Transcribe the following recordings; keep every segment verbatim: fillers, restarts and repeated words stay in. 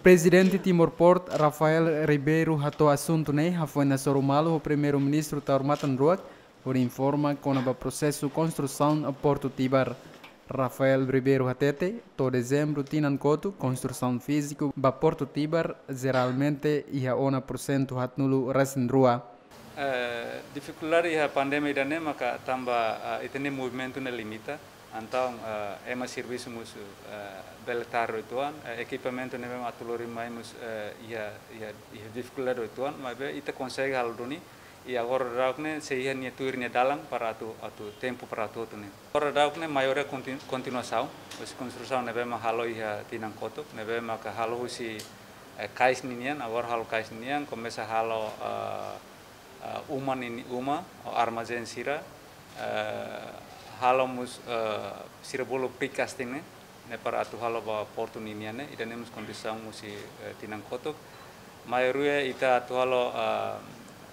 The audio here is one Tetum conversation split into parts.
Prezidente Timor Port, Rafael Ribeiro, hato'o asuntu ne'e hafoin hasoru malu ho Primeiru-Ministru Taur Matan Ruak, hodi informa kona-ba prosesu konstrusaun Portu Tibar. Rafael Ribeiro hatete, to'o dezembru tinan kotuk, konstrusaun fíziku ba Portu Tibar jeralmente iha ona pursentu haatnulu resin rua. Eh, difikuldade iha pandemia ida-ne'e maka tanba, eh, ita-nia movimentu ne'e limita. Entaun, eh, ema servisu mós, eh, bele tarde uitoan, eh, ekipamentu ne'ebé mak atu lori mai mós, eh, iha, iha, iha difikuldade uitoan, maibé ita konsege halo duni, i agora daudaun ne'e sei iha nia tuir nia dalan para atu, atu tempu para atu hotu ne'e. Agora daudaun ne'e maioria kontin-, kontinuasaun, husi konstrusaun ne'ebé mak halo iha tinan kotuk, ne'ebé maka halo husi, eh, kais ninian, agora halo kais ninian, komesa halo, eh, eh, uma nini-, uma, ou armazén sira, eh, halo mós, eh, sira bolu precasting ne'e, ne'e para atu halo ba portu ninian ne'e, ida-ne'e mós kondisaun husi, eh, tinan kotuk. Maioria ita atu halo, eh,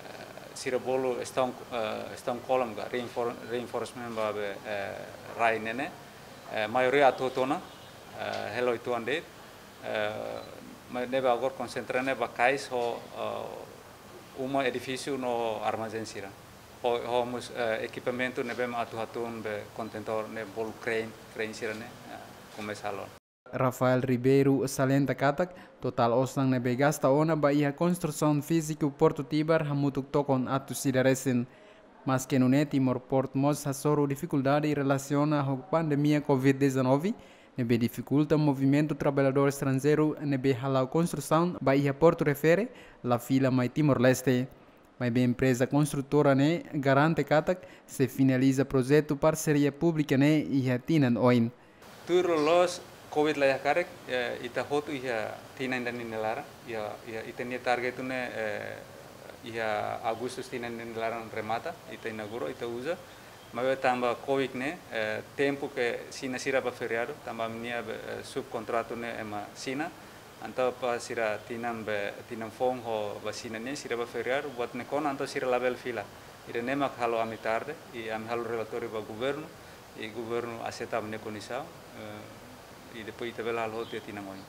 eh, sira bolu stone, eh, stone column ka, reinfor-, reinforcement ba be, eh, rai ne'e ne'e. Eh, maioria atu hotu ona, eh, hela uitoan de'it. Eh, ma-, ne'ebé agora konsentra ne'e ba kais ho, eh, uma, edifísiu no armazén sira. Ho, ho mós, eh, ekipamentu ne'ebé mak atu hatún be kontentór ne'e bolu crane, crane sira ne'e, eh, komesa halo. Rafael Ribeiro salienta katak, totál osan ne'ebé gasta ona ba iha konstrusaun fíziku Portu Tibar hamutuk tokon atus ida resin. Maske nune'e Timor Port mós hasoru difikuldade relasiona ho pandemia covid dezanove, ne'ebé difikulta movimentu traballadór estranjeiru ne'ebé hala'o konstrusaun ba iha portu refere, la fila mai Timor-Leste. Maibé empreza konstrutora ne'e garante katak sei finaliza projetu parseria públika ne'e iha tinan oin. Tuir loloos covid la iha karik, eh, ita hotu iha tinan ida-ne'e nia laran, iha, iha ita-nia target ne'e, eh, iha Agustus tinan ida-ne'e nia laran remata, ita inaugura, ita uza. Maibé tanba covid ne'e, eh, tempu ke Xina sira bá feriadu, tanba ami-nia be, eh, subkontratu ne'e ema Xina, entaun ba sira tinan be, tinan foun ho ba Xina ne'e sira bá feriadu, buat ne'e kona entaun sira labele fila. Ida-ne'e mak halo ami tarde, i ami halo relatóriu ba governu, i governu aseita ami-nia kondisaun, eh, i depois ita bele halo hotu iha tinan oin.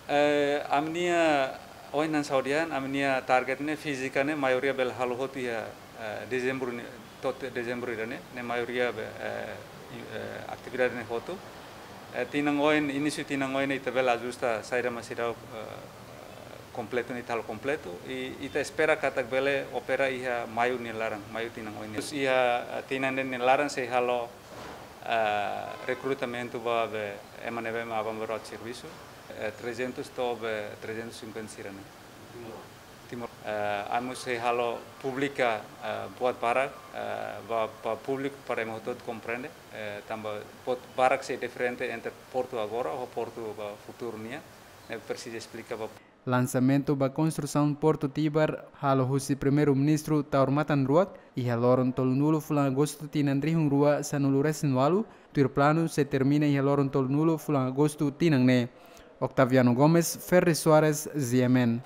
Eh, ami-nia ohin hanesan ha'u dehan, ami-nia target ne'e fízika ne'e maioria bele halo hotu iha, eh, dezembru ne'e, to'o dezembru ida-ne'e, ne'e maioria be, eh, i-, eh, atividade ne'e hotu. Eh, tinan oin, inísiu tinan oin ne'e ita bele ajusta saida mak seidauk, eh, kompletu ne'e ita halo kompletu. I ita espera katak bele opera iha maiu nia laran, maiu tinan oin ne'e. Terus iha, eh, tinan ida-ne'e nia laran sei halo, eh, rekrutamentu ba be ema ne'ebé mak aban-bainrua atu servisu, eh, trezentus to'o be trezentus e cinquenta sira-ne'e. Timor. Eh, ami mós sei halo públika, eh, buat barak, eh, ba, ba públiku para ema hotu-hotu komprende, eh, tanba buat barak sei diferente entre portu agora ho portu ba futuru nian, ne'e presiza esplika ba. Lansamentu ba konstrusaun Portu Tibar halo husi Primeiru-Ministru Taur Matan Ruak iha loron tolunulu fulan Agostu tinan rihun rua sanulu resin ualu, tuir planu sei termina iha loron tolunulu fulan Agostu tinan ne'e. Octaviano Gomes, Ferri Soares, Z M N.